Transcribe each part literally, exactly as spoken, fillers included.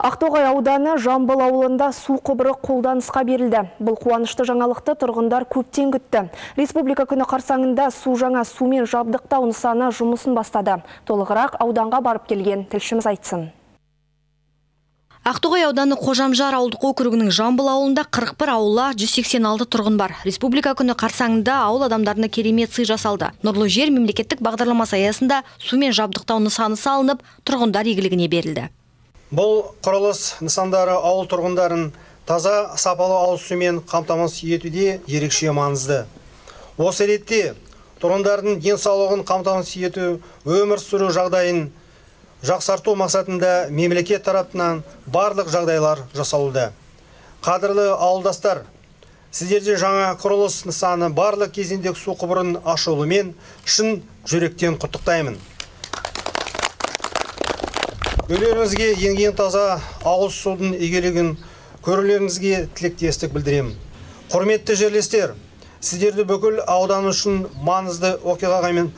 Ақтоғай ауданы Жамбыл ауылында су құбыры қолданысқа берілді. Бұл қуанышты жаңалықты тұрғындар көптен күтті. Республика күні қарсаңында су жаңа сумен жабдықтау нысаны жұмысын бастады. Толығырақ ауданға барып келген тілшіміз айтсын. Ақтоғай ауданы Қожамжар ауылдық округінің Жамбыл ауылында қырық бір аула, жүз сексен алты тұрғын бар. Республика күні қарсаңында ауыл адамдарына керемет сый жасалды. Нұрлы жер мемлекеттік бағдарламасы аясында сумен жабдықтау нысаны салынып, тұрғындар игілігіне берілді. Бұл құрылыс нысандары ауыл тұрғындарын таза сапалы ауыз сумен қамтамасыз етуде ерекше маңызды. Осы ретте тұрғындардың денсаулығын қамтамасыз ету, өмір сүру жағдайын жақсарту мақсатында мемлекет тарапынан барлық жағдайлар жасалуда. Қадірлі ауылдастар, сіздерде жаңа құрылыс нысаны барлық кезеңдегі су құбырын ашылуымен шын жүректен құттықтаймын. Үйлеріңізге енген таза ауыз судың игілігін көрулеріңізге тілектестік білдіремін. Құрметті жерлестер, сіздерді бүкіл аудан үшін маңызды оқиғамен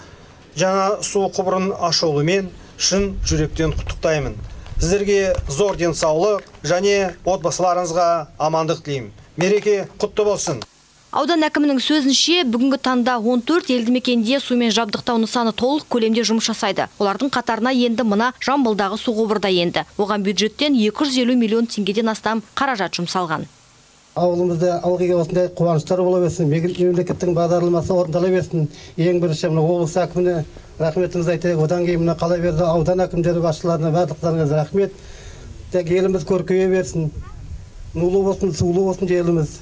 жаңа су құбырын ашылуымен шын жүректен құттықтаймын. Сіздерге зор денсаулық және отбасыларыңызға амандық тілеймін. Мереке құтты болсын. Аудан әкімінің сөзінше, бүгінгі таңда он төрт елді мекенде сумен жабдықтау нысаны толық көлемде жұмыс жасайды. Олардың қатарына енді мына Жамбылдағы су құбыры да енді. Оған бюджеттен екі жүз елу миллион теңгеден астам қаражат жұмсалған. Ауылымызда алғыға осындай қуаныштар бола берсін, мемлекеттің бағдарламасы орындала берсін. Ең бірінші облыс әкіміне рахметімізді айтайық. Одан кейін мына қала берді аудан әкімдері басшыларына барлықтарыңызға рахмет. Тек еліміз көркейе берсін. Нулы болсын, сулы болсын еліміз.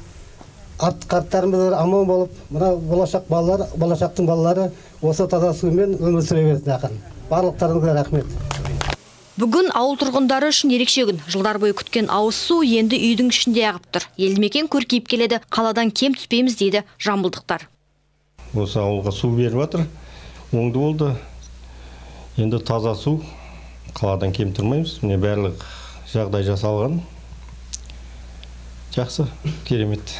Ат қарттарымыз аман болып, мына болашақ балалар, болашақтың балалары осы таза сумен өмір сүре берсін ақын. Барлықтарыңызға рахмет. Бүгін ауыл тұрғындары үшін ерекше күн. Жылдар бойы күткен ауыз су енді үйдің ішінде ағып тұр. Елді мекен көркейіп келеді, қаладан кем түспейміз дейді жамбылдықтар. Осы ауылға су беріп жатыр, оңды болды. Енді таза су, қаладан кем тұрмаймыз. Міне барлық жағдай жасалған. Жақсы, керемет.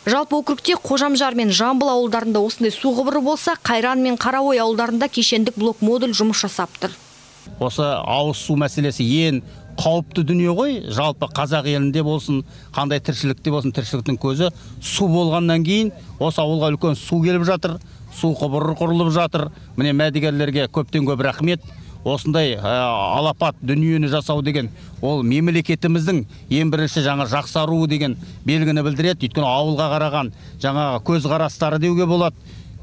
Жалпы округте Қожамжар мен Жамбыл ауылдарында осындай су құбыры болса, Қайран мен Қараой ауылдарында кешендік блок модуль жұмыс жасап тұр. Осы ауыз су мәселесі ең қауіпті дүние ғой, жалпы қазақ елінде болсын, қандай тіршілікте болсын, тіршіліктің көзі су болғаннан кейін осы ауылға үлкен су келіп жатыр, су құбыры құрылып жатыр. Міне мәдігерлерге көптен көп рахмет. Осындай алапат дүниені жасау деген ол мемлекетіміздің ең бірінші жаңа жақсаруы деген белгіні білдіреді. Өйткені ауылға қараған жаңағы көз қарастары деуге болады.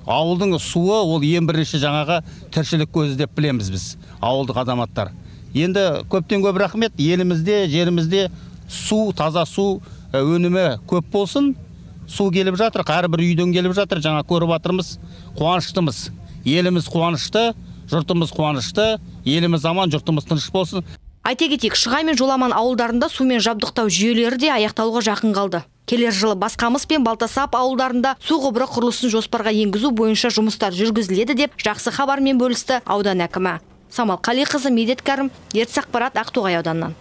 Ауылдың суы ол ең бірінші жаңағы тіршілік көзі деп білеміз біз, ауылдық азаматтар. Енді көптен көп рахмет. Елімізде, жерімізде су, таза су өнімі көп болсын. Су келіп жатыр, әрбір үйден келіп жатыр. Жаңа көріп жатырмыз, қуаныштымыз. Еліміз қуанышты, жұртымыз қуанышты, еліміз аман, жұртымыз тыныш болсын. Айта кетейік, Шығай мен Жоламан ауылдарында сумен жабдықтау жүйелері де аяқталуға жақын қалды. Келер жылы Басқамыс пен Балтасап ауылдарында су құбыры құрылысын жоспарға енгізу бойынша жұмыстар жүргізіледі деп жақсы хабармен бөлісті аудан әкімі. Самал Қалиқызы, Медет Кәрім, Ертіс ақпарат, Ақтоғай ауданынан.